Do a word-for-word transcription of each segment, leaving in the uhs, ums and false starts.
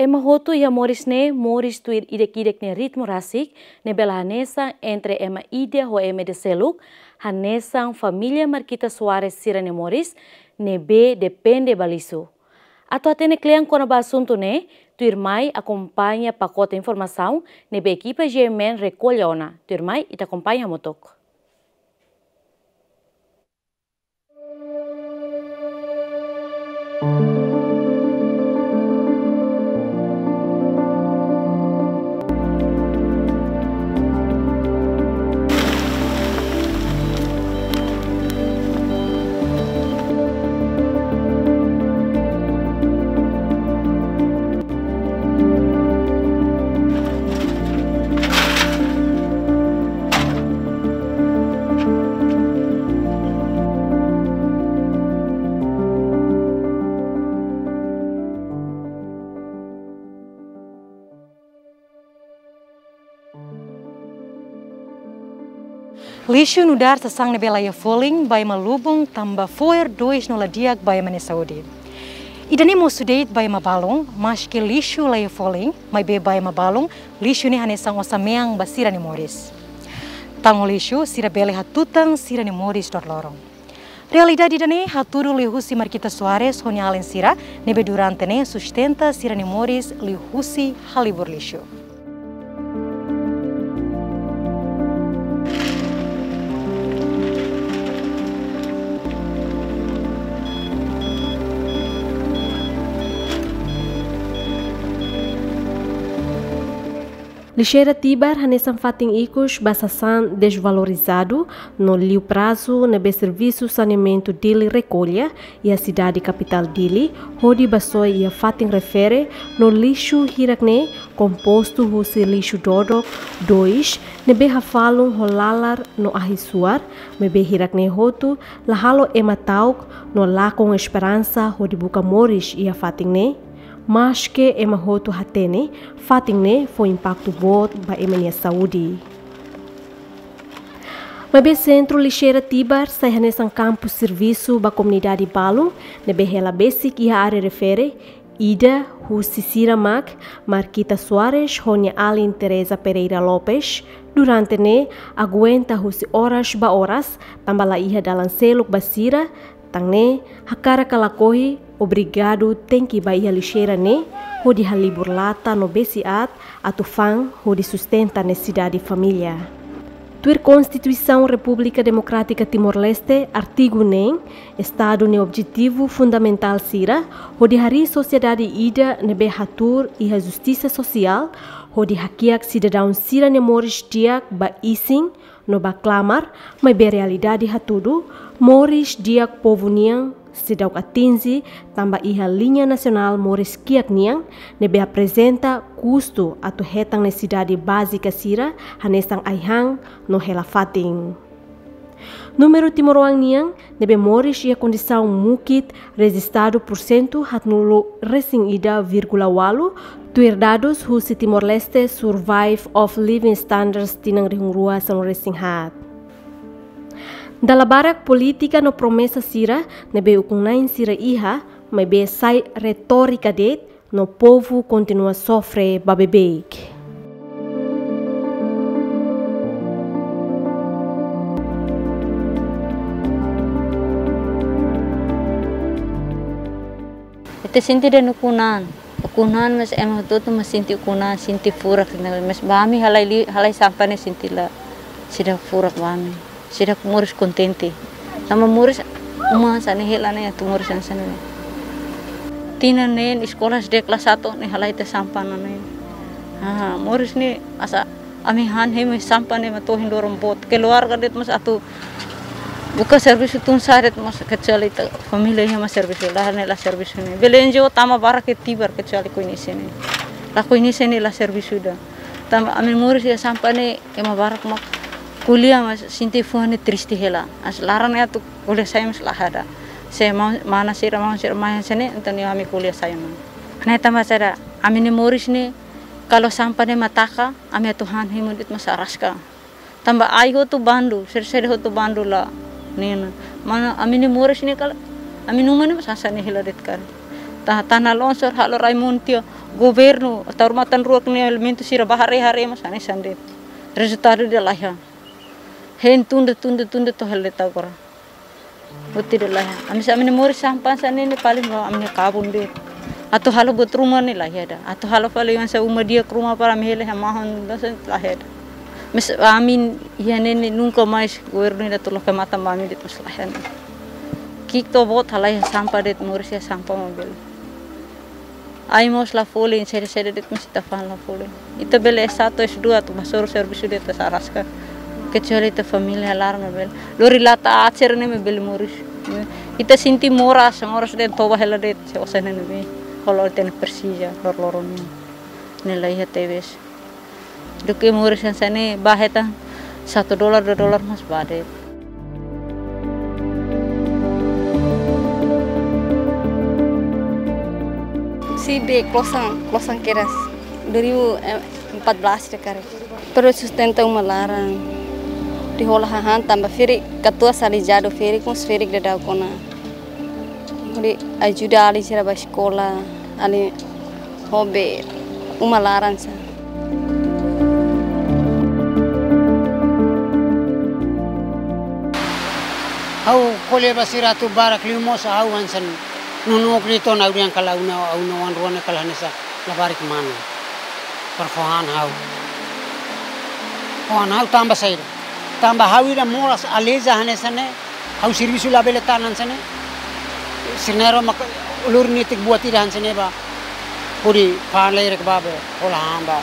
Ema hotu iha moris ne'e moris tuir ida-idak nia ritmu rasik, ne'ebé la hanesan entre ema ida ho ema ida seluk, hanesan família Marquita Soares sira-nia moris, ne'ebé depende ba lixu. Atu hatene kle'an kona-ba asuntu ne'e, tuirmai akompaña pakote informasaun ne'ebé ekipa G M N rekolla ona. Tuirmai ita akompaña hamutuk. Lixu nu'udar sasán ne'ebé la iha folin ba ema lubun tanba fo'er dois no la di'ak ba ema nia saúde. Ida-ne'e mosu de'it ba ema balun, maske lixu la iha folin, maibé ba ema balun, lixu ne'e hanesan osan-mean ba sira-nia moris. Tan ho lixu, sira bele hatutan sira-nia moris dodoloron. Realidade ida-ne'e hatudu liuhusi Marquita Soares ho nia alin sira, ne'ebé durante ne'e sustenta sira-nia moris liuhusi halibur lixu. Lixeira Tibar hanesan fatin ikus ba sasán desvalorizadu no liu prazu ne'ebé servisu saneamentu Dili rekolla iha sidade kapitál Dili, hodi bá soe iha fatin refere no lixu hirak-ne'e kompostu husi lixu dodok, dois, ne'ebé hafalu ho lalar no ahi-suar, maibé hirak-ne'e hotu la halo ema ta'uk no lakon esperansa hodi buka moris iha fatin ne'e. Maske ema hotu hatene, fatin ne'e fó impaktu boot ba ema nia saúde. Maibé Sentru Lixeira Tibar sai hanesan kampu servisu ba komunidade balun, ne'ebé hela besik iha área refere, ida husi sira mak Marquita Soares ho nia alin Teresa Pereira Lopes, durante ne'e aguenta husi oras ba oras, tanba la iha dalan seluk ba sira, tan ne'e, hakarak ka lakohi, obrigadu tenke bá iha lixeira ne'e, hodi halibur lata no besi aat, atu fa'an, hodi sustenta nesesidade família. Tuir Konstituisaun Repúblika Demokrátika Timor-Leste, artigu neen, Estadu nia objetivu fundamentál sira, hodi harii sosiedade ida ne'ebé hatuur iha justisa sosiál, hodi hakiak sidadaun sira-nia moris di'ak ba isin, no ba klamar, maibé realidade hatudu, moris di'ak povu nian seidauk atinje, tanba iha liña nasionál moris kiak nian, ne'ebé aprezenta kustu atu hetan nesesidade bázika sira, hanesan ai-han no hela fatin. Númeru timoroan nian ne'ebé moris iha kondisaun mukit rejistadu pursentu haatnulu resin ida vírgula ualu, tuir dadus husi Timor-Leste Survey of Living Standards tinan rihun rua sanulu resin haat. Dala barak polítika no promesa sira ne'ebé ukun-na'in sira iha, maibé sai retórika de'it, no povu kontinua sofre ba beibeik. Ita sente de'it ukun-na'in. Ukun-na'in mas ema hotu-hotu mas sente ukun-na'in, sente furak, mas ba ami halai li-, halai sampah ne'e sente la, seidauk furak ba ami. Seidauk moris kontente. Tanba moris uma hanesan ne'e hela ne'e, atu moris hanesan ne'e. Tinan neen eskola seidauk kelas satu ne'e halai tiha sampah ne'e. Ah, moris ne'e asa ami han hemu sampah ne'e mak to'o ohin loron boot. Keluarga de'it mas atu buka servisu tun-sa'e de'it mas kecuali ita família iha mak servisu, la ne'e la servisu ne'e. Bele N G O tama barak iha Tibar kecuali Koinisi ne'e. La Koinisi ne'e la servisu ida. Tanba ami moris iha sampah ne'e ema barak mak ko'alia mas sente fuan ne'e triste hela. Mas laran ne'e atu ko'alia sai mas la iha. Se ma-, mana sira, maun sira mai hanesan ne'e, entaun ami ko'alia sai mak. Ne'e tanba saida, ami-nia moris ne'e, kalau sampah ne'e mak taka, ami atu han hemu de'it mas araska. Tanba ai hotu bandu, sede-sede hotu bandu la. Ne'e ona. Mana ami-nia moris ne'e kalau, ami-nia uma ne'e mas hanesan ne'e hela de'it karik. Ta-, tanah longsor halo rai-moon tiha, Governu, tau matan ruak ne'e elementu sira ba haree-haree mós hanesan de'it. Rezultadu ida laiha. Hein tunda, tunda, tunda to'o hela de'it agora. Buat ida laiha. Ami sa, ami-nia moris sampah hanesan ne'e paling ba ami-nia kabun de'it. Atu halo buat ruma ne'e laiha ida. Atu halo fali hanesan uma di'ak ruma para ami hela hamahon, hanesan laiha ida. Mas ami iha ne'e nunka mais governu ida atu loke matan ba ami de'it, mas laiha ne'e. Ki'ik to'o boot halai iha sampah de'it, moris iha sampah mak bele. Ai mós la folin, sede-sede de'it mós ita fa'an la folin. Ita bele S satu, S dua atu ba hasoru servisu de'it ita araska. Kecuali ita família laran mak bele. Lori lata aat sira-ne'e mak bele moris. Ita sente moras, moras de'it toba hela de'it, se osan ne'e ne'ebé. Kalau ita-nia presiza, lor-loron ne'e. Ne'e laiha tebes. Duké moris hanesan ne'e ba hetan satu dolar, dua dolar mós ba de'it. Sei bee klosan, klosan kedas. Dua ribu empat belas ida karik. Para sustenta uma laran. Hodi hola hahán tanba ferik, katuas alizadu ferik, mós ferik daudauk ona. Hodi ajuda alin sira ba eskola, alin ho bee uma laran sá. Ha'u ko'alia ba sira atu barak liu mós ha'u hanesan nonook de'it ona, ha'u dehan kalan ha'u-nia, ha'u-nia oan rua ne'e kalan hanesan labarik manu. Para fó han ha'u. Fó han ha'u tanba saida? Tanba ha'u ida moras aleija hanesan ne'e. Ha'u servisu labele tan hanesan ne'e. Sira-nia oan mak lori netik buat ida hanesan ne'e ba. Hodi fa'an lerek ba be, hola han ba.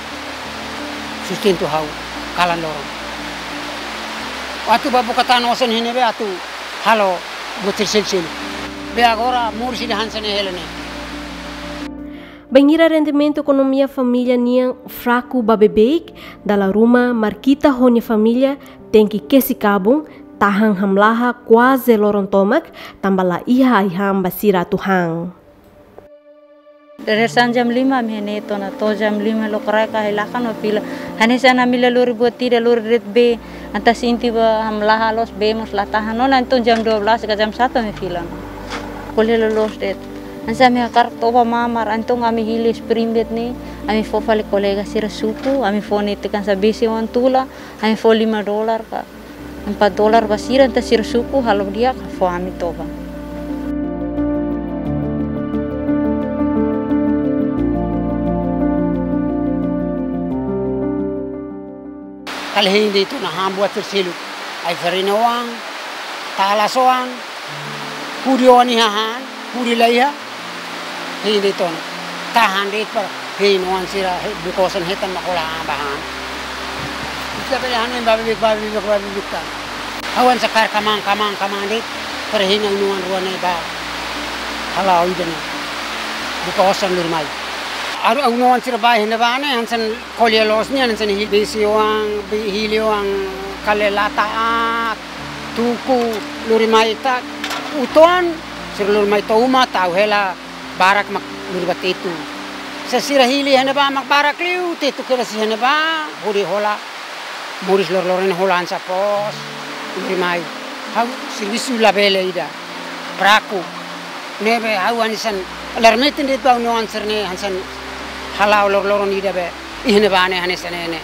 Sustentu ha'u, kalan loron. Atu ba buka tan osan iha ne'ebé atu halo buat sel-sel. Be agora moris ida hanesan ne'e hela ne'e. Bainhira rendimentu ekonomia família nian fraku ba beibeik, dala ruma Marquita ho nia família tenke kesi kabun, tahan hamlaha kuaze loron tomak, tanba la iha ai-han ba sira atu han. Dadeer-saan jam lima ami iha ne'e tiha ona, to'o jam lima lokraik ha'u iha lakan mak fila. Hanesan ami la lori buat ida, lori de'it bee, entaun sente ba hamlaha loos, bee mós la tahan ona, entaun jam dua belas ka jam satu ami fila. Ko'alia loloos de'it. Hanesan ami hakarak toba mamar, entaun ami hili spring bed ne'e, ami fó fali kolega sira suku, ami fó netik hanesan besi wan tula, ami fó lima dolar ka empat dolar ba sira, entaun sira suku halo di'ak fó ami toba. Kala hein de'it ona han buat sira seluk. Ai-farina oan, talas oan, hudi oan iha han, hudi la iha. Hein de'it ona. Tahan de'it para hein oan sira, he, buka osan hetan mak hola han ba han. Ita bele han ba beibeik, ba beibeik, ba beibeik tan. Ha'u hanesan kaer kmaan, kmaan, kmaan de'it. Para hein ha'u-nia oan rua ne'e ba hala'o ida ne'e. Buka osan lori mai. Ha'u, ha'u-nia oan sira ba iha ne'ebá ne'e, hanesan ko'alia loos nian, hanesan hili besi oan, be-, hili oan kale lata aat, tuku, lori mai ta, uitoan, sira lori mai to'o uma, tau hela, barak mak lori ba tetu. Se sira hili iha ne'ebá mak barak liu, tetu kedas iha ne'ebá, hodi hola, moris loroloron ne'e hola hanesan pos, lori mai. Ha'u servisu labele ida, fraku. Ne'ebé ha'u hanesan, lar metin de'it ba ha'u-nia oan sira-ne'e, hanesan hala'o loroloron ida be, iha ne'ebá ne'e hanesan ne'e ne'e.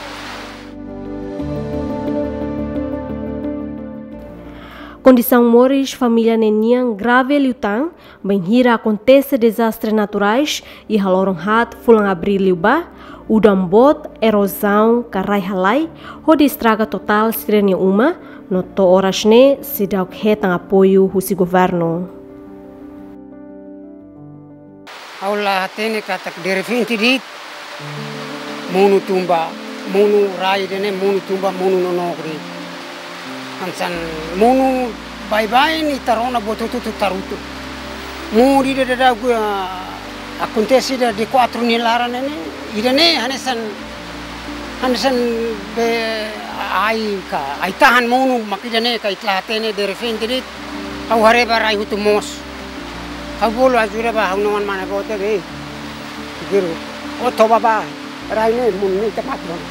Kondisaun moris família ne'e nian grave liután, bainhira akontese dezastre naturais, iha loron haat fulan Abríl liubá, udan boot, erozaun, ka rai halai, hodi estraga totál sira-nia uma, no to'o oras ne'e seidauk hetan apoiu husi governu. Ha'u la hatene katak derrepente de'it monu tun ba, monu rai ida-ne'e monu tun ba, monu nonook de'it. Hanesan monu baibain ita rona buat hotu-hotu tarutu. Monu ida daudauk, ah, akontese ida dia kuatru nia laran ne'e, ida-ne'e hanesan, hanesan be ai ka, ai-tahan monu mak ida-ne'e ka ita la hatene derrepente de'it. Ha'u haree ba rai hotu moos. Ha'u bolu ajuda ba ha'u-nia oan mane-boot be. Guru. O toba ba. Rai ne'e monu ne'e ita mate ona.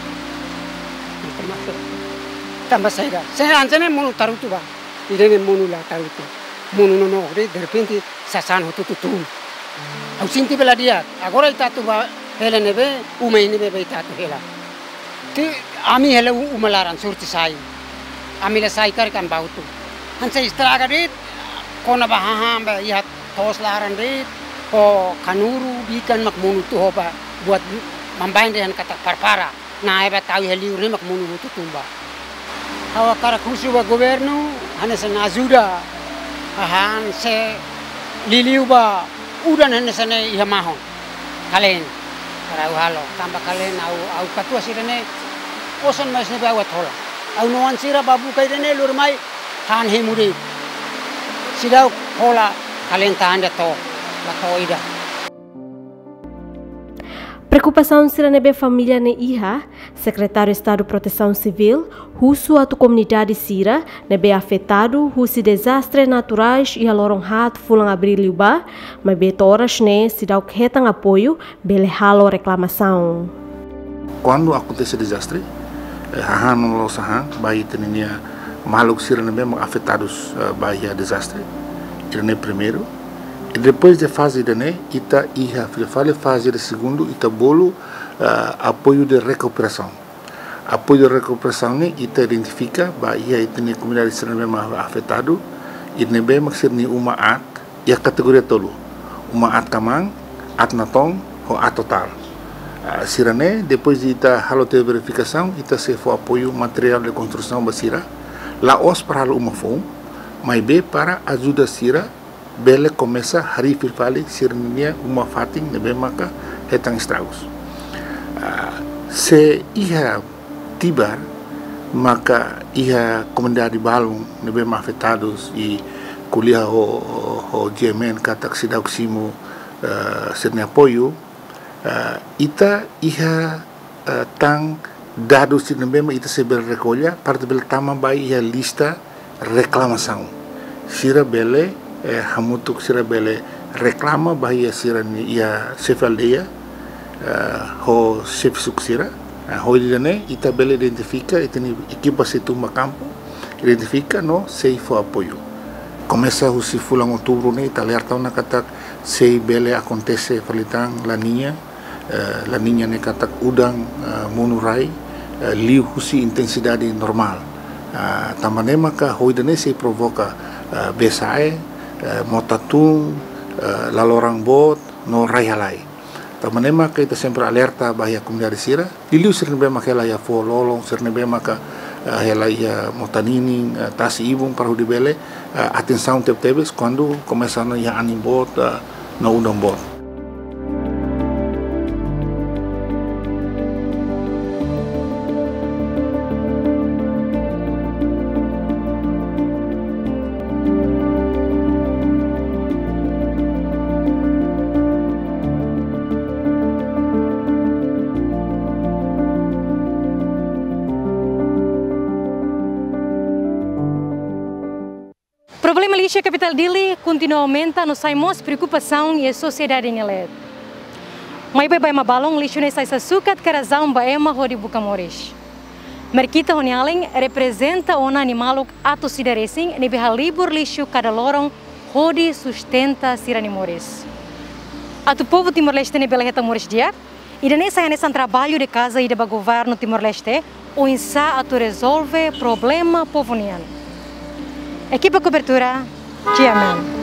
Ita mate. Tanba saida? Se hanesan ne'e monu tarutu ba. Ida-ne'e monu la tarutu. Monu nonook de'it, derrepente sasán hotu-hotu tun. Ha'u sente bela di'ak. Agora ita atu ba Hela ne'ebé, uma iha ne'ebé ita atu hela. Ti, ami hela u-, uma laran sorte sai. Ami la sai karik ami bá hotu. Hanesan estraga de'it, kona-ba hahán ba iha to'os laran de'it, ho kanuru, bikan mak monu hotu ho ba, buat mambain dehan katak parpara. Nah, eba tau iha liur ne'e mak monu hotu tun ba. Ha'u hakarak husu ba governu, hanesan ajuda, hahán se liuliu ba udan hanesan ne'e iha mahon. Kalen, para ha'u halo, tanba kalen ha'u, ha'u katuas ida-ne'e, osan mais ne'ebé ha'u atu hola. Ha'u-nia oan sira ba buka ida-ne'e, lori mai, han hemu de'it. Seidauk hola, kalen tahan de'it to'o, ba to'o ida. Preokupasaun sira ne'ebé família ne'e iha, Sekretáriu Estadu Protesaun Sivíl husu atu komunidade sira ne'ebé afetadu husi dezastre naturais iha loron haat fulan Abríl liubá, maibé to'o oras ne'e seidauk hetan apoiu, bele halo reklamasaun. Kuandu akontese dezastre, eh, hahán no la'ós hahán, ba ita-nia maluk sira ne'ebé mak afetadus, eh, ba iha dezastre. Ida-ne'e primeiru. I depois de faze ida-ne'e, ita iha fila fali faze ida segundu, ita bolu, eh, apoiu de rekuperasaun. Apoiu de rekuperasaun ne'e ita identifika ba iha ita-nia komunidade sira ne'ebé mak afetadu, i ne'ebé mak sira-nia uma aat, iha kategoria tolu. Uma aat kmaan, aat natoon, ho aat totál. Ah, sira-ne'e, depois de ita halo tiha verifikasaun, ita sei fó apoiu materiál de konstrusaun ba sira. La'ós para halo uma foun, maibé para ajuda sira bele komesa harii fila fali sira-nia uma-fatin ne'ebé maka hetan estragus. Ah, se iha tibar maka iha komunidade balun ne'ebé mak afetadus i ko'alia ho, ho, ho G M N katak seidauk simu, eh, sira-nia apoiu, eh, ita iha, eh, tan dadus sira ne'ebé mak ita sei bele rekolla, para ita bele tama ba iha lista reklamasaun. Sira bele, eh, hamutuk sira bele reklama ba iha sira-nia, iha xefe aldeia, eh, ho xefe suku sira. Eh, hodi nune'e ita bele identifika, ita-nia ekipa sei tun ba kampu, identifika no sei fó apoiu. Komesa husi fulan Outubru ne'e, ita alerta ona katak sei bele akontese fali tan La Niña, eh, La Niña ne'e katak udan, eh, monu rai, eh, liu husi intensidade normál. Eh, tanba ne'e maka ho ida-ne'e sei provoka, eh, bee-sa'e, eh, mota tun, eh, laloran boot, no rai-halai. Tanba ne'e maka ita sempre alerta ba iha komunidade sira, liuliu sira ne'ebé maka hela iha foho-lolon, sira ne'ebé maka, eh, hela iha mota ninin, eh, tasi-ibun para hodi bele, eh, atensaun tebetebes kuandu komesa ona iha anin boot, eh, no udan boot. Problema lixu iha kapitál Dili kontinua aumenta no sai mós preokupasaun iha sosiedade nia leet. Maibé ba ema balun lixu ne'e sai sasukat ka razaun ba ema hodi buka moris. Merkita ho nia alin reprezenta ona nia maluk atus ida resin ne'ebé halibur lixu kada loron hodi sustenta sira-nia moris. Atu povu Timor-Leste ne'e bele hetan moris di'ak, ida-ne'e sai hanesan traballu de casa ida ba governu Timor-Leste, oinsá atu rezolve problema povu nian. Ekipa kobertura, G M N.